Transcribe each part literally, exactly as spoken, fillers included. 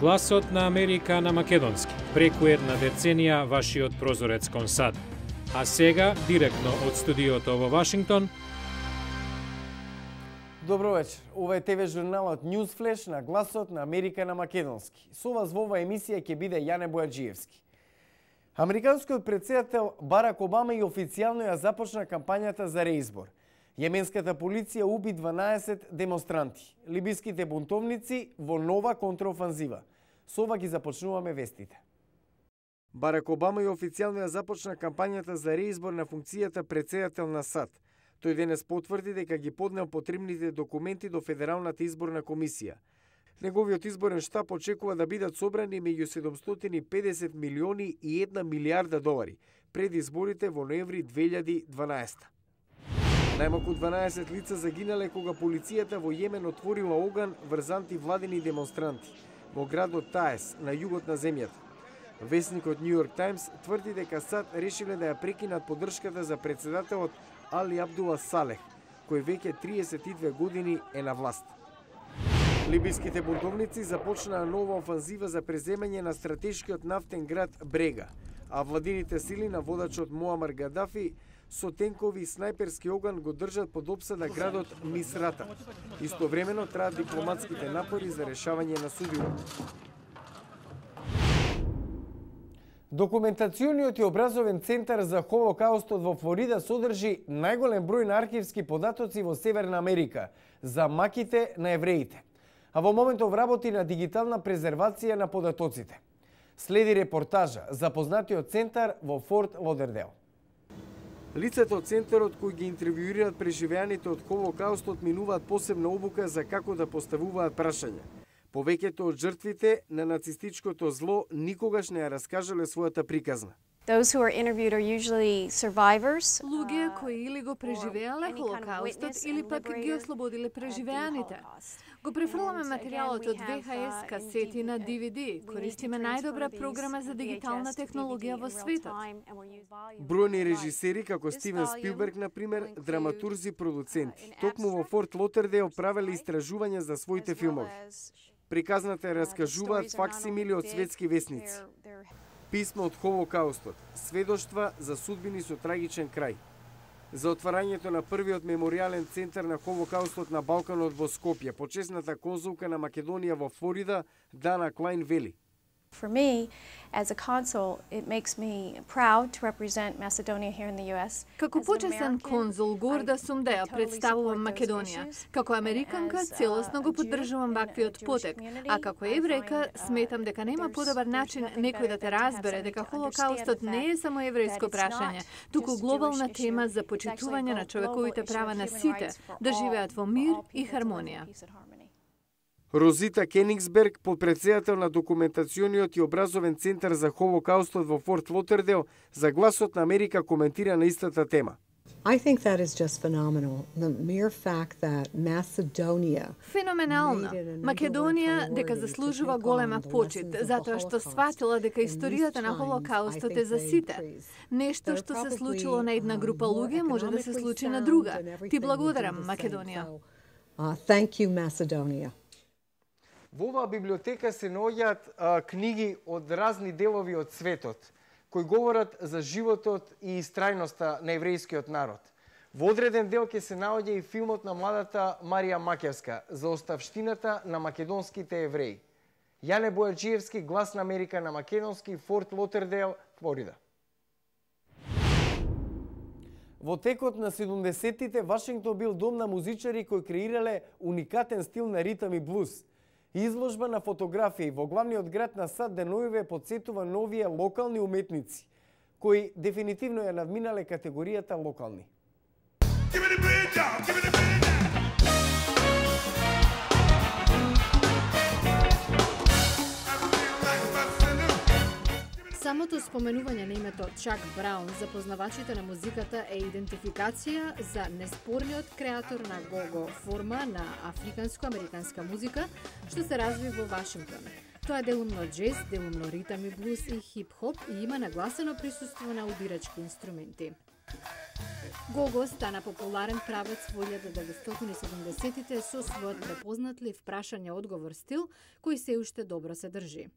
Гласот на Америка на македонски, преку една деценија вашиот прозорец кон САД. А сега, директно од студиото во Вашингтон. Добро вечер. Ова е ТВ журналот Newsflash на Гласот на Америка на македонски. Со вас во оваа емисија ќе биде Јане Бојаджиевски. Американскиот претседател Барак Обама и официјално ја започна кампањата за реизбор. Јеменската полиција уби дванаесет демонстранти. Либиските бунтовници во нова контраофанзива. Со ова ги започнуваме вестите. Барак Обама и официјално ја започна кампањата за реизбор на функцијата претседател на САД. Тој денес потврди дека ги поднел потребните документи до Федералната изборна комисија. Неговиот изборен штаб очекува да бидат собрани меѓу седумстотини и педесет милиони и една милијарда долари пред изборите во ноември две илјади и дванаесета. Најмалку дванаесет лица загинале кога полицијата во Јемен отворила оган врз антивладини демонстранти во градот Таес на југот на земјата. Весникот Нью Йорк Таймс тврди дека САД решиле да ја прекинат поддршката за претседателот Али Абдула Салех, кој веќе триесет и две години е на власт. Либиските бунтовници започнаа нова офанзива за преземање на стратешкиот нафтен град Брега, а владините сили на водачот Муамар Гадафи со тенкови и снајперски оган го држат под опсада градот Мисрата. Истовремено траат дипломатските напори за решавање на судбината. Документациониот и образовен центар за Холокаустот во Флорида содржи најголем број на архивски податоци во Северна Америка за маките на евреите, а во моментов работи на дигитална презервација на податоците. Следи репортажа запознатиот центар во Форт Лодердейл. Лицата од центарот кои ги интервјуираат преживеаните од Холокаустот минуваат посебна обука за како да поставуваат прашања. Повеќето од жртвите на нацистичкото зло никогаш не ја раскажале својата приказна. Those who are interviewed are usually survivors. Луѓе кои или го преживеале Холокаустот или пак ги ослободиле преживеаните. Го префрламе материјалот од ви ес ес касети на ди ви ди. Користиме најдобра програма за дигитална технологија во светот. Бројни режисери како Стивен Спилберг, например, драматурзи, продуценти, токму во Форт Лотердейл правеле истражувања за своите филмови. Приказната ја раскажуваат факсимили од светски весници. Писма од Холокаустот, сведоштва за судбини со трагичен крај. За отварањето на првиот меморијален центар на Холокаустот на Балканот во Скопје, почесната конзулка на Македонија во Флорида, Дана Клайн вели. For me, as a consul, it makes me proud to represent Macedonia here in the U S. Како почесен конзул, горда сум да ја представувам Македонија. Како американка, целосно го поддржувам ваквиот потек, а како еврејка, сметам дека нема подобар начин некој да те разбере дека Холокаустот не е само еврејско прашање, туку глобална тема за почитување на човековите права на сите, да живеат во мир и хармонија. Розита Кенингсберг, подпредседател на Документациониот и образовен центар за Холокаустот во Форт Лотердейл, за Гласот на Америка коментира на истата тема. I think that is just phenomenal. The mere fact that Macedonia Феноменално. Македонија дека заслужува голема почит, затоа што сватила дека историјата на Холокаустот е за сите. Нешто што се случило на една група луѓе може да се случи на друга. Ти благодарам, Македонија. Uh, thank you, Macedonia. Во оваа библиотека се наоѓаат книги од разни делови од светот, кои говорат за животот и истрајноста на еврејскиот народ. Во одреден дел ќе се наоѓа и филмот на младата Марија Макевска за оставштината на македонските евреи. Јане Бојаджиевски, Глас на Америка на македонски, Форт Лотердейл, Флорида. Во текот на седумдесеттите Вашингтон бил дом на музичари кои креирале уникатен стил на ритам и блуз. Изложба на фотографии во главниот град на САД деноиве подсетува новие локални уметници, кои дефинитивно ја надминале категоријата локални. Самото споменување на името Чак Браун за познавачите на музиката е идентификација за неспорниот креатор на го-го форма на африканско-американска музика, што се разви во Вашингтон. Тоа е делумно джез, делумно ритам и блуз и хип-хоп и има нагласено присуство на удирачки инструменти. Гого стана популарен правец во илјада деветстотини и седумдесетите со својот препознатлив прашање-одговор стил, кој се уште добро се држи.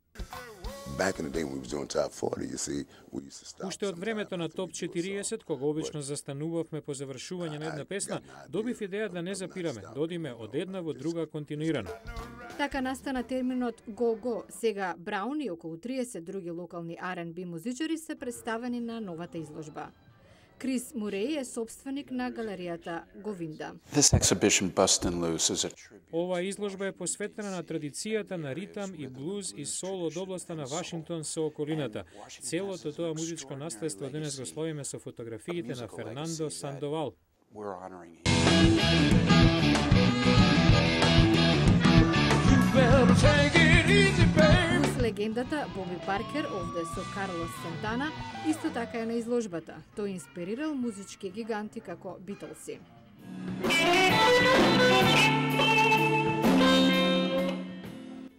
Уште од времето на топ четириесет, кога обично застанувавме по завршување на една песна, добив идеја да не запираме, да одиме од една во друга континуирано. Така настана терминот го-го. Сега Браун и околу триесет други локални ар енд би музичари се представени на новата изложба. Крис Муреј е собственик на галеријата Говинда. Ова изложба е посветена на традицијата на ритам и блуз и сол од областа на Вашингтон со околината. Целото тоа музичко наследство денес го славиме со фотографиите на Фернандо Сандовал. Плюс легендата Боби Паркер, овде со Карлос Сантана, исто така е на изложбата. Тој инспирирал музички гиганти како Битлси.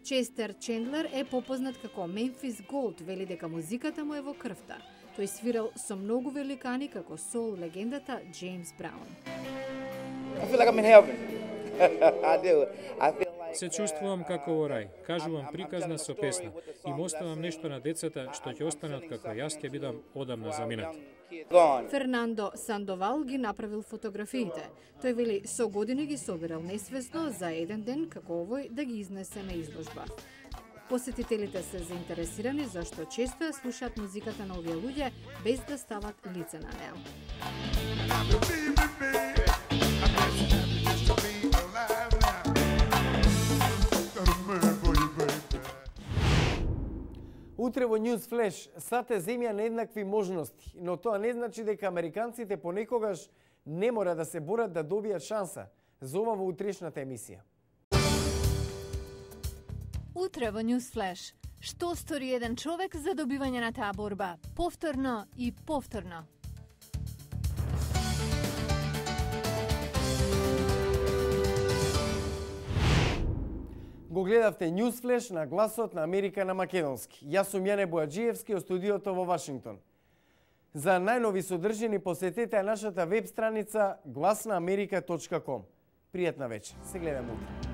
Честер Чендлер е попознат како Мемфис Голд, вели дека музиката му е во крвта. Тој свирал со многу великани како сол легендата Джеймс Браун. Се чувствувам како во рај, кажувам приказна со песна и му оставам нешто на децата што ќе останат како јас ќе бидам одамна заминат. Фернандо Сандовал ги направил фотографиите. Тој вели со години ги собирал несвесно за еден ден како овој да ги изнесе на изложба. Посетителите се заинтересирани зашто често ја слушаат музиката на овие луѓе без да стават лице на неа. Утре во News Flash сате земја нееднакви можности, но тоа не значи дека американците понекогаш не мора да се борат да добијат шанса. За ова во утрешната емисија. Утре во News Flash. Што стори еден човек за добивање на таа борба? Повторно и повторно. Го гледавте News Flash на гласот на Америка на македонски. Јас сум Јане Бојаджиевски од студиото во Вашингтон. За најнови содржини посетете нашата веб страница глас на америка точка ком. Пријатна вечер. Се гледаме утре.